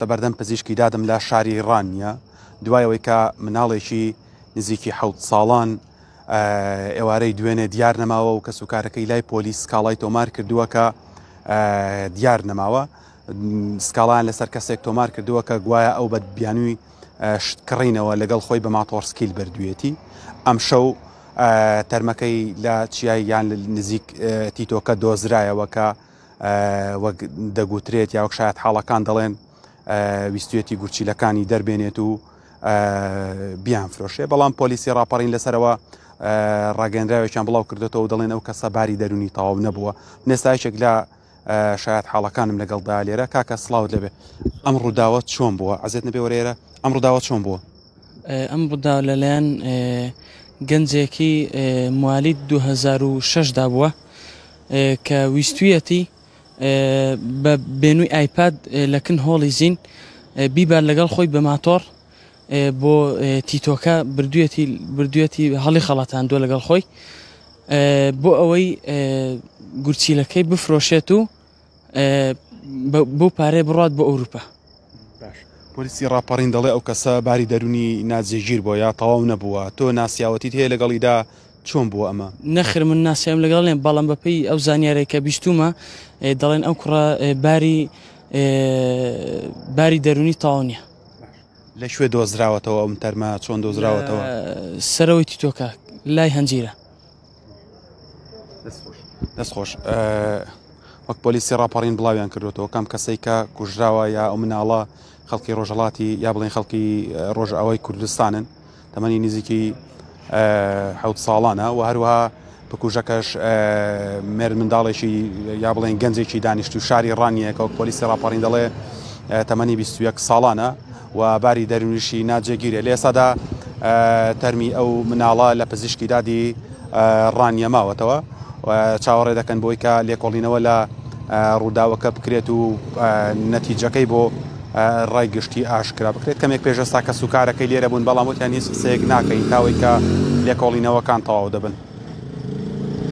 بەردەم پزیشکی دادم لە شاری ڕانیە دوای ئەوەی کە مناڵێکی نزیکی حەوت ساڵان ئێوارەی دوێنێ دیار نەماوە و کەسوکارەکەی لای پۆلیس سکاڵای تۆمار کردووە کە دیار نەماوە سکاڵیان لەسەر کەسێک تۆمار کردووە کە گوایە ئەو بە بیانووی شت کڕینەوە لەگەڵ خۆی بە ماتۆڕسکیل بردوویەتی ئەم شەو تەرمەکەی لە چیای یان نزیک تیتۆکە دۆزرایەوە کە وەک دەگوترێت یا وەک شایەت حاڵەکان دەڵێن ویستویەتی گورچیلەکانی دەربێنێت و بیان فرۆشێ بەڵام پۆلیسی ڕاپەڕین لەسەرەوە ڕاگەنراوێکیان بڵاو کردێتەوە دەڵێن ئەو کەسە باری دەرونی تەواو نەبووە نێستایشێک لە شایەت حاڵەکانم لەگەڵدا لێرە کاکە سلااوت لەبێ ئەم ڕووداوە چۆن بووە عزیێت نەبێ وەرێرە ئەم ڕووداوە چۆن بووە؟ ئەم ڕووداوە لەلایەن گەنجێکی موالید 2006 دا بووە کە ویستویەتی بە بێنووی ئایپاد لە کن هۆڵی زین بیبات لەگەڵ خۆی بە ماتۆڕ بۆ تیتۆکە بردوێتی بردوێتی هەڵی خەڵەتاندووە لەگەڵ خۆی بۆ ئەوەی گورچیلەکەی بفرۆشێت و بەو پارەیە بڕات بۆ ئەوروپا. باش پۆلیسی ڕاپەڕین دەڵێ ئەو کەسە باری دەرونی ناجێگیر بووە یا تەواو نەبووە تۆ ناسیاوەتیت هەیە لەگەڵیدا چۆن بووە ئەمە؟ نەخێر من ناسیاویم لەگەڵ نیە بەڵام بەپێی ئەو زانیارەی کە بیستومە دەڵێن ئەو کوڕە باری باری دەرونی تەواو نیە. لە کوێ دۆزراوەتەوە ئەم تەرمە چۆن دۆزراوەتەوە؟ سەرەوەی تیتۆکە لای هەنجیرە. دەست خۆش وەک پۆلیسی ڕاپەڕین بڵاویان کردوێتەوە کەم کەسەی کە کوژراوە یا ئەو مناڵە خەڵکی ڕۆژهڵاتی یا بڵێن خەڵکی ڕۆژئاوای کوردستانن تەمەنی نزیکی حوت ساڵانە و هەروەها بکوژەکەش مێرد منداڵێکی یا بڵێن گەنجێکی دانیشتو شاری ڕانیە کە وەک پۆلیسی ڕاپەڕین دەڵێ تەمەنی 21 ساڵانە و باری دەروونیشی ناجێگیرە. لە ئێستادا تەرمی ئەو مناڵە لە پزیشکی دادی ڕانیە ماوەتەوە و چاوەڕێ دەکەن بۆی کە لێکۆڵینەوە لە ڕووداوەکە بکرێت و نەتیجەکەی بۆ ڕای گشتی ئاشکرا بکرێت. کەمێک پێش ئێستا کەسوکارەکەی لێرە بوون، بەڵام وتیان هیچ قسەیەک ناکەین تاوەی کە لێکۆڵینەوەکان تەواو دەبن.